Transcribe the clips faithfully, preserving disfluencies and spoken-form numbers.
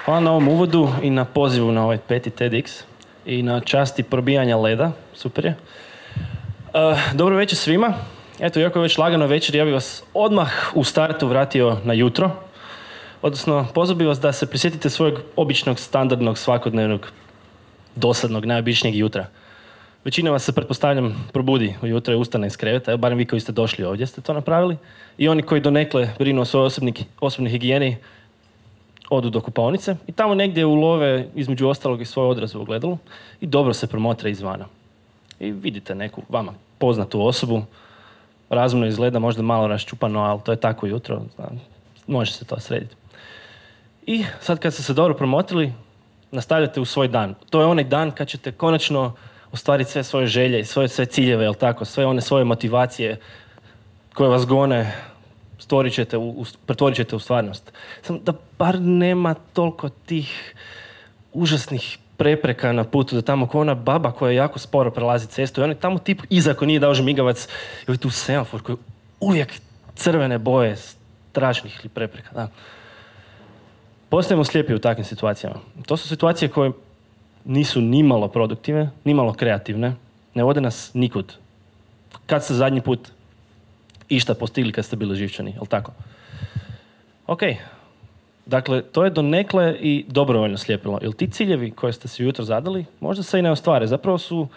Hvala na ovom uvodu i na pozivu na ovaj peti TEDx i na časti probijanja leda. Super je. Uh, dobro večer svima. Eto, iako je već lagano večer, ja bih vas odmah u startu vratio na jutro. Odnosno, pozvao bih vas da se prisjetite svojeg običnog, standardnog, svakodnevnog, dosadnog, najobičnijeg jutra. Većina vas se, pretpostavljam, probudi ujutro i ustane iz kreveta, evo, barem vi koji ste došli ovdje ste to napravili. I oni koji donekle brinu o svojoj osobnoj higijeni, odu do kupaonice i tamo negdje ulove između ostalog i svoj odraz u ogledalu i dobro se promotre izvana. I vidite neku vama poznatu osobu, razumno izgleda, možda malo raščupano, ali to je tako jutro, znam, može se to srediti. I sad kad ste se dobro promotrili, nastavljate u svoj dan. To je onaj dan kad ćete konačno ostvariti sve svoje želje i svoje sve ciljeve, jel tako, sve one svoje motivacije koje vas gone, stvorit ćete u, u, pretvorit ćete u stvarnost. Samo da bar nema toliko tih užasnih prepreka na putu, da tamo ko ona baba koja jako sporo prelazi cestu i on je tamo tip iza ko nije dao žmigavac i ovaj tu semafor koji uvijek crvene boje strašnih ili prepreka. Da. Postajemo slijepi u takvim situacijama. To su situacije koje nisu nimalo produktivne, nimalo kreativne, ne vode nas nikud. Kad ste zadnji put išta postigli kad ste bili živčani, jel tako? Ok, dakle, to je donekle i dobrovoljno slijepilo. Jer ti ciljevi koje ste si ujutro zadali, možda se i ne ostvare. Zapravo su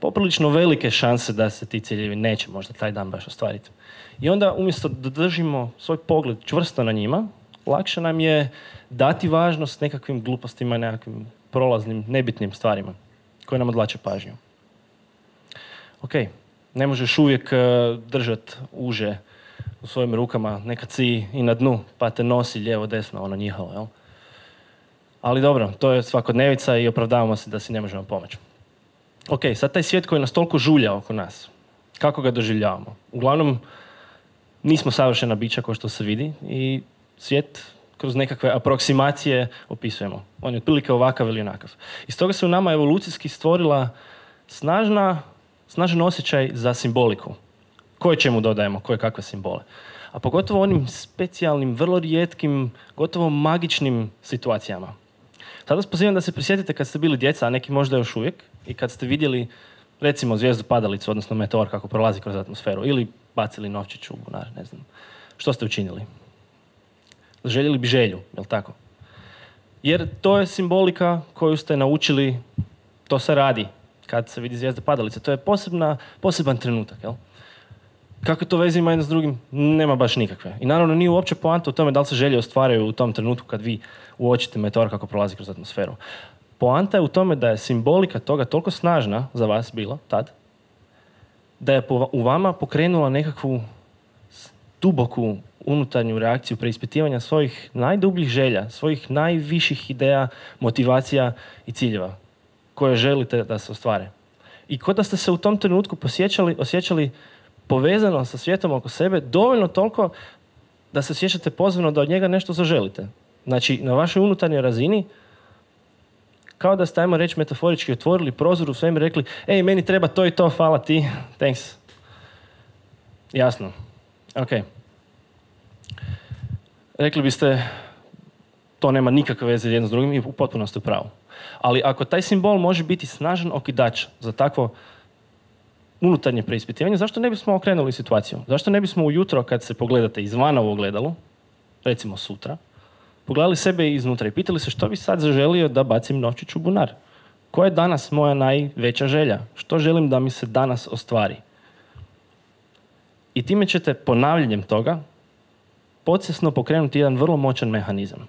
poprilično velike šanse da se ti ciljevi neće možda taj dan baš ostvariti. I onda, umjesto da držimo svoj pogled čvrsto na njima, lakše nam je dati važnost nekakvim glupostima i nekakvim prolaznim, nebitnim stvarima koje nam odvlače pažnju. Ok, ne možeš uvijek uh, držati uže u svojim rukama, nekad si i na dnu, pa te nosi lijevo, desno, ono njihalo, jel? Ali dobro, to je svakodnevica i opravdavamo se da si ne možemo pomoći. Ok, sad taj svijet koji nas toliko žulja oko nas, kako ga doživljavamo? Uglavnom, nismo savršena bića kao što se vidi i svijet kroz nekakve aproksimacije opisujemo. On je otprilike ovakav ili onakav. I stoga se u nama evolucijski stvorila snažna, snažan osjećaj za simboliku. Koje čemu dodajemo, koje kakve simbole. A pogotovo onim specijalnim, vrlo rijetkim, gotovo magičnim situacijama. Sada vas pozivam da se prisjetite kad ste bili djeca, a neki možda još uvijek, i kad ste vidjeli, recimo, zvijezdu padalicu, odnosno meteor kako prolazi kroz atmosferu, ili bacili novčić u bunar, ne znam. Što ste učinili? Željeli bi želju, jel tako? Jer to je simbolika koju ste naučili, to se radi kad se vidi zvijezda padalice. To je posebna, poseban trenutak, jel? Kako to veze ima jedno s drugim? Nema baš nikakve. I naravno nije uopće poanta u tome da li se želje ostvaraju u tom trenutku kad vi uočite meteor kako prolazi kroz atmosferu. Poanta je u tome da je simbolika toga toliko snažna za vas bila tad, da je u vama pokrenula nekakvu duboku unutarnju reakciju preispitivanja svojih najdubljih želja, svojih najviših ideja, motivacija i ciljeva koje želite da se ostvare. I kao da ste se u tom trenutku posjećali, osjećali povezano sa svijetom oko sebe, dovoljno toliko da se osjećate pozvano da od njega nešto zaželite. Znači, na vašoj unutarnjoj razini, kao da ste, ajmo reći, metaforički otvorili prozor u svemir i rekli, ej, meni treba to i to, hvala ti, thanks. Jasno. Ok. Rekli biste, to nema nikakve veze jedno s drugim i u potpunosti u pravu. Ali ako taj simbol može biti snažan okidač za takvo unutarnje preispitivanje, zašto ne bismo okrenuli situaciju? Zašto ne bismo ujutro, kad se pogledate izvana u ogledalu, recimo sutra, pogledali sebe iznutra i pitali se što bi sad zaželio da bacim novčić u bunar? Koja je danas moja najveća želja? Što želim da mi se danas ostvari? I time ćete ponavljanjem toga podsvjesno pokrenuti jedan vrlo moćan mehanizam.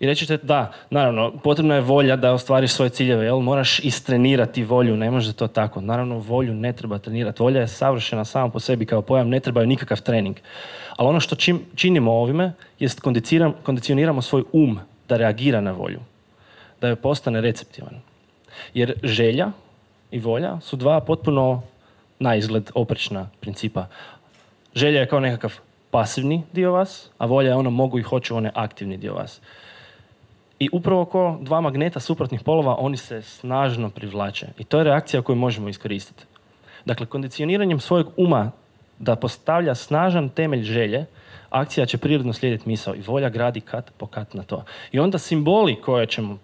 I reći ćete, da, naravno, potrebna je volja da ostvariš svoje ciljeve, jel? Moraš istrenirati volju, ne može to tako. Naravno, volju ne treba trenirati. Volja je savršena sama po sebi kao pojam, ne treba joj nikakav trening. Ali ono što čim, činimo ovime, jest kondicioniramo svoj um da reagira na volju, da joj postane receptivan. Jer želja i volja su dva potpuno na izgled oprečna principa. Želja je kao nekakav pasivni dio vas, a volja je ono mogu i hoću, on je aktivni dio vas. I upravo ko dva magneta suprotnih polova, oni se snažno privlače. I to je reakcija koju možemo iskoristiti. Dakle, kondicioniranjem svojeg uma da postavlja snažan temelj želje, akcija će prirodno slijediti misao i volja gradi kat po kat na to. I onda simboli koje ćemo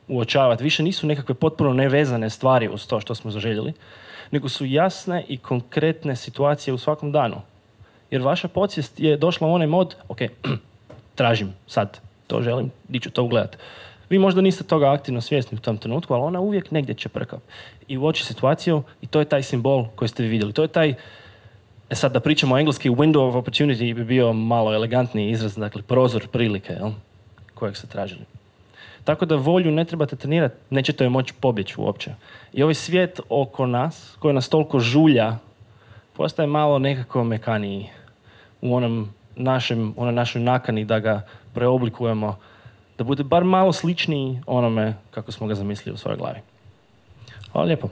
uočavati više nisu nekakve potpuno nevezane stvari uz to što smo zaželjeli, nego su jasne i konkretne situacije u svakom danu. Jer vaša podsvijest je došla u onaj mod, ok, tražim sad, to želim, di ću to ugledati. Vi možda niste toga aktivno svjesni u tom trenutku, ali ona uvijek negdje će prkati. I uoči situaciju i to je taj simbol koji ste vi vidjeli. To je taj, e sad da pričamo engleski, window of opportunity bi bio malo elegantniji izraz, dakle prozor prilike, jel? Kojeg ste tražili. Tako da volju ne trebate trenirati, nećete joj moći pobjeći uopće. I ovaj svijet oko nas, koji nas toliko žulja, postaje malo nekako mekaniji u onom našem, onoj našoj nakani da ga preoblikujemo, da bude bar malo sličniji onome kako smo ga zamislili u svojoj glavi. Hvala lijepo.